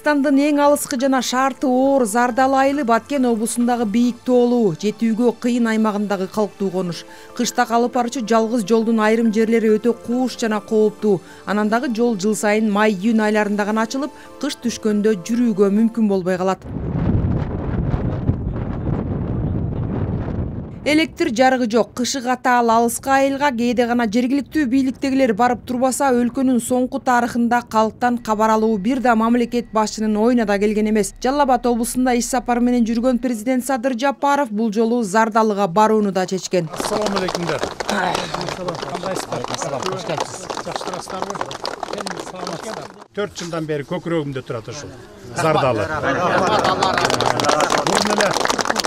Кыргызстандын эң алыскы жана шарты оор Зардалы айылы Баткен облусундагы бийик тоолуу, жетүүгө кыйын аймагындагы калктуу конуш. Кышта алып барчу жалгыз жолдун айрым жерлери өтө кууш жана кооптуу. Анан дагы жол жыл сайын май-июнь айларында гана ачылып, кыш түшкөндө жүрүүгө мүмкүн болбой калат. Электр жарыгы жок, кышы катаал алыскы айылга кээде гана жергиликтүү бийликтегилер барып турбаса, өлкөнүн соңку тарыхында калктан кабар алуу бир да мамлекет башчынын оюна да келген эмес. Жалал Абад облусунда иш сапары менен жүргөн президент Садыр Жапаров бул жолу Зардалыга барууну да чечкен. Ассаламу алейкумдар. Кандайсыздар? Кош келипсиз. Жакшы турасыздарбы? Саламатсыздар. 4 жылдан бери көкүрөгүмдө турат ушул Зардалы. Бул эле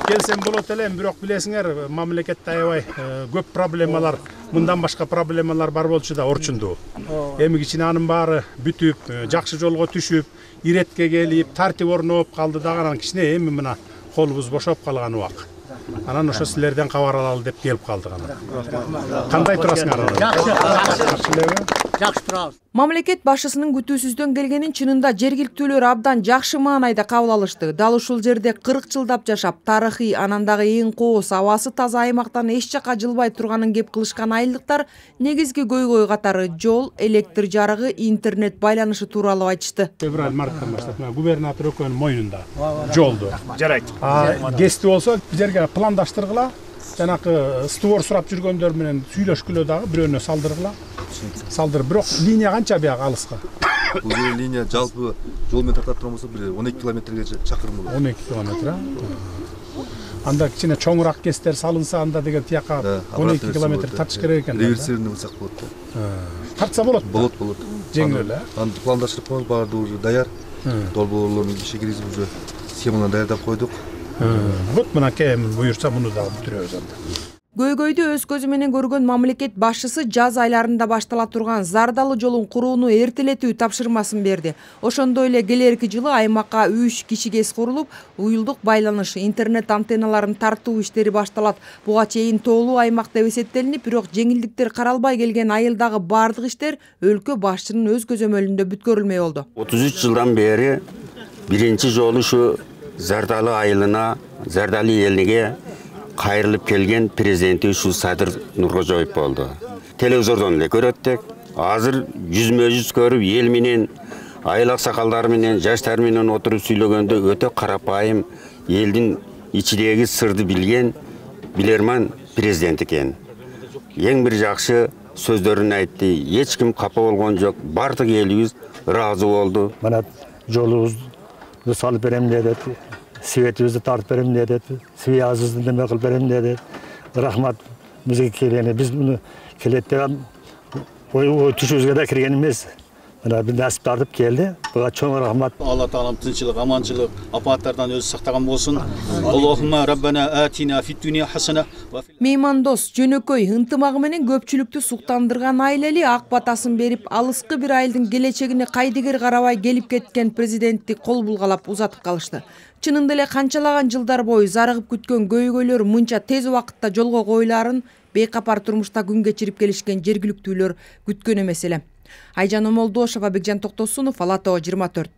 келсем болот эле, бирок билесиңер, мамлекетте аябай көп проблемалар, мындан башка проблемалар бар болчу да Орчунду. Эми кичине анын баары бүтүп, жакшы жолго түшүп, иретке келип, тартип орноп калды дагы, анан кичине эми мына колубуз бошоп калган убак. Анан ошо силерден кабар алалы деп келип калдык анан. Кандай турасыңар? Жакшы турабыз. Мамлекет башчысынын күтүүсүздөн келгенин чынында жергиликтүүлөр абдан жакшы маанайда кабыл алышты. Дал ушул жерде 40 жылдап жашап, тарыхый, анан дагы эң кооз, абасы таза аймактан эч жака жылбай турганын кеп кылышкан айылдыктар негизги көйгөй катары жол, электр жарыгы, интернет байланышы тууралуу айтышты. Февраль марттан баштап губернатор экөөнүн мойнунда жолду. Жарайт. Кести болсо жерге пландаштыргыла, жанакы створ сурап жүргөндөр менен сүйлөшкүлө дагы бирөөнө салдыргыла. Бирок линия канча бияк алыска? Бул линия жалпы жол менен тартат турмаса бир 12 километрге чакырым болот. 12 километр. Анда кичине чоңураак кестер салынса, анда деген тияка 12 километр тартыш керек экен. Реверсивный болсак болот. Тартса болот. Болот. Жеңил эле. Анда пландаштырып коебуз, баардыгы уже даяр. Долбоорлорун иши киргизип уже схеманы даярдап койдук. Вот мына кем буюрса муну дагы бүтүрөбүз анда. Көйгөйдү өз көзү менен көргөн мамлекет башчысы жаз айларында баштала турган Зардалы жолун курууну эртелетүү тапшырмасын берди. Ошондой эле келерки жылы аймакка 3 киши КЭС курулуп, уюлдук байланыш, интернет антенналарын тартуу иштери башталат. Буга чейин тоолуу аймак деп эсептелинип, бирок жеңилдиктер каралбай келген айылдагы бардык иштер өлкө башчынын өз көзөмөлүндө бүткөрүлмөй болду. 33 жылдан бери биринчи жолу ушу Зардалы айылына, Зардалы элине кайрылып келген президенти ушу Садыр Нуркожоев болду. Телевизордон эле көрөттүк. Азыр жүзмө-жүз көрүп, эл менен, айыл аксакалдары менен, жаштар менен отуруп сүйлөгөндө өтө карапайым, элдин ичидеги сырды билген билерман президент экен. Эң бир жакшы сөздөрүн айтты. Эч ким капа болгон жок. Бардык элибиз ыраазы болду. Мына жолубузду салып берем деди. Светибизди тартып берем деди. Связыбызды неме кылып берем деди. Рахмат бизге келгени. Биз муну келет деп түшүбүзгө да кирген эмес. Мына бир насип тартып келди. Буга чоң рахмат. Алла таалам тынччылык, аманчылык, апаттардан өзү сактаган болсун. Аллахумма раббана атина фид дунья хасана. Меймандос, жөнөкөй, ынтымагы менен көпчүлүктү суктандырган айыл эли ак батасын берип, алыскы бир айылдын келечегине кайдыгер карабай келип кеткен президентти кол булгалап узатып калышты. Чынында эле канчалаган жылдар бою зарыгып күткөн көйгөйлөр мынча тез убакытта жолго коюларын бейкапар турмушта күн кечирип келишкен жергиликтүүлөр күткөн эмес эле. Айжан Омолдошова, Бекжан Токтосунов, Ала Тоо 24.